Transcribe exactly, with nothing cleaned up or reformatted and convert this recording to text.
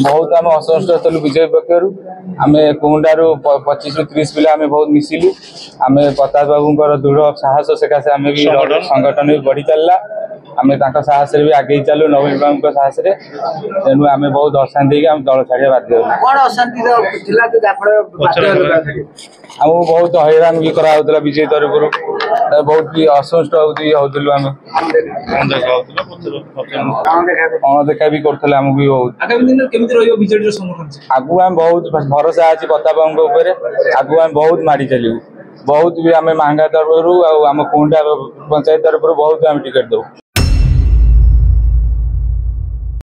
ବହୁତ ଆମେ ଅସନ୍ତୁଷ୍ଟ ଥିଲୁ ବିଜେପି ପକ୍ଷରୁ। ଆମେ କୁହୁଣ୍ଡାରୁ ପଚିଶରୁ ତିରିଶ ପିଲା ଆମେ ବହୁତ ମିଶିଲୁ। ଆମେ ପ୍ରତାପ ବାବୁଙ୍କର ଦୃଢ଼ ସାହସ ସକାଶେ ଆମେ ବି ସଂଗଠନ ବି ବଢି ଚାଲିଲା। ଆମେ ତାଙ୍କ ସାହସରେ ବି ଆଗେଇ ଚାଲୁ, ନବୀନ ବାବୁଙ୍କ ସାହସରେ। ତେଣୁ ଆମେ ବହୁତ ଅଶାନ୍ତି ହେଇକି ଆମେ ଦଳ ଛାଡ଼ିବା ବାଧ୍ୟ ହେଲୁ। କଣ ଅଶାନ୍ତି ଥିଲା ଯେ ଯାହାଫଳରେ ବାଧ୍ୟ ହେଲେ ଦଳ ଛାଡ଼ିବାକୁ? ଆମକୁ ବହୁତ ହଇରାଣ ବି କରାହଉଥିଲା ବିଜେପି ତରଫରୁ, ବହୁତ ବି ଅସନ୍ତୁଷ୍ଟ ବି ହଉଥିଲୁ ଆମେ। ଅଣଦେଖା ବି କରୁଥିଲେ ଆମକୁ ବି ବହୁତ। ଆଗାମୀ ଦିନରେ କେମିତି ରହିବ ବିଜେଡିର ସଂଗଠନ? ଆଗକୁ ଆମେ ବହୁତ ଭରସା ଅଛି ପ୍ରତାପ ବାବୁଙ୍କ ଉପରେ। ଆଗକୁ ଆମେ ବହୁତ ମାଡ଼ି ଚାଲିବୁ। ବହୁତ ବି ଆମେ ମାହାଙ୍ଗା ତରଫରୁ ଆଉ ଆମ କୁଣ୍ଡା ପଞ୍ଚାୟତ ତରଫରୁ ବହୁତ ଆମେ ଟିକେଟ ଦବୁ।